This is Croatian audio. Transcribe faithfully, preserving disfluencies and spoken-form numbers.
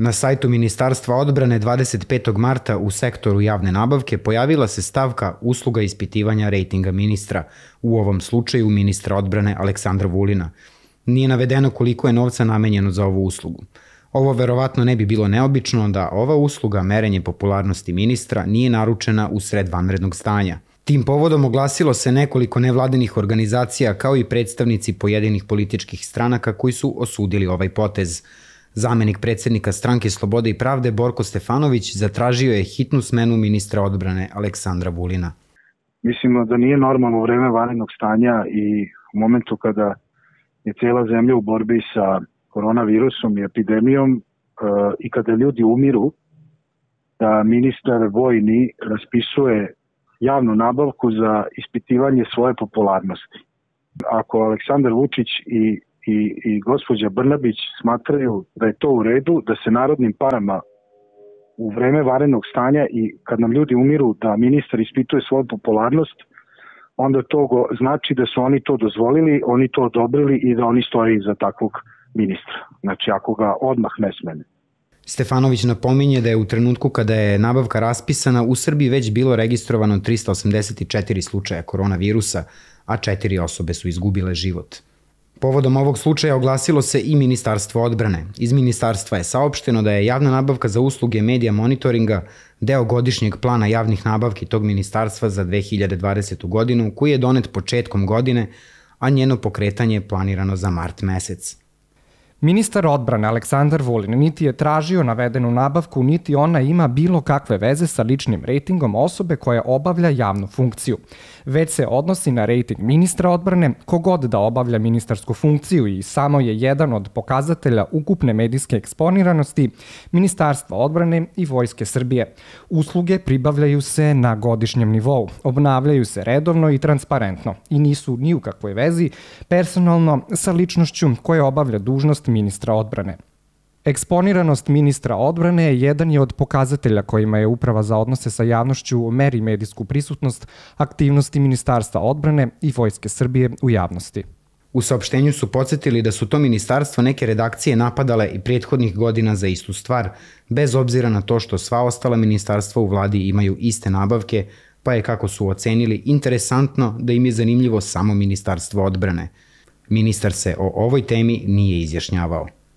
Na sajtu Ministarstva odbrane dvadeset petog marta u sektoru javne nabavke pojavila se stavka usluga ispitivanja rejtinga ministra, u ovom slučaju ministra odbrane Aleksandra Vulina. Nije navedeno koliko je novca namenjeno za ovu uslugu. Ovo verovatno ne bi bilo neobično da ova usluga merenje popularnosti ministra nije naručena u sred vanrednog stanja. Tim povodom oglasilo se nekoliko nevladinih organizacija kao i predstavnici pojedinih političkih stranaka koji su osudili ovaj potez. Zamenik predsednika Stranke slobode i pravde Borko Stefanović zatražio je hitnu smenu ministra odbrane Aleksandra Vulina. Mislimo da nije normalno u vreme vanrednog stanja i u momentu kada je cijela zemlja u borbi sa koronavirusom i epidemijom e, i kada ljudi umiru, da ministar vojni raspisuje javnu nabavku za ispitivanje svoje popularnosti. Ako Aleksandar Vučić i I, i gospođa Brnabić smatraju da je to u redu, da se narodnim parama u vreme vanrednog stanja i kad nam ljudi umiru da ministar ispituje svoju popularnost, onda to go, znači da su oni to dozvolili, oni to odobrili i da oni stoje iza takvog ministra. Znači ako ga odmah ne smene. Stefanović napominje da je u trenutku kada je nabavka raspisana u Srbiji već bilo registrovano trista osamdeset četiri slučaja koronavirusa, a četiri osobe su izgubile život. Povodom ovog slučaja oglasilo se i Ministarstvo odbrane. Iz ministarstva je saopšteno da je javna nabavka za usluge medija monitoringa deo godišnjeg plana javnih nabavki tog ministarstva za dve hiljade dvadesetu godinu, koji je donet početkom godine, a njeno pokretanje je planirano za mart mesec. Ministar odbrane Aleksandar Vulin niti je tražio navedenu nabavku, niti ona ima bilo kakve veze sa ličnim rejtingom osobe koja obavlja javnu funkciju. Već se odnosi na rejting ministra odbrane, kogod da obavlja ministarsku funkciju i samo je jedan od pokazatelja ukupne medijske eksponiranosti Ministarstva odbrane i Vojske Srbije. Usluge pribavljaju se na godišnjem nivou, obnavljaju se redovno i transparentno i nisu ni u kakvoj vezi personalno sa ličnošću koja obavlja dužnost ministra odbrane. Eksponiranost ministra odbrane jedan je od pokazatelja kojima je Uprava za odnose sa javnošću meri medijsku prisutnost aktivnosti Ministarstva odbrane i Vojske Srbije u javnosti. U saopštenju su podsjetili da su to ministarstvo neke redakcije napadale i prethodnih godina za istu stvar, bez obzira na to što sva ostala ministarstva u vladi imaju iste nabavke, pa je, kako su ocenili, interesantno da im je zanimljivo samo Ministarstvo odbrane. Ministar se o ovoj temi nije izjašnjavao.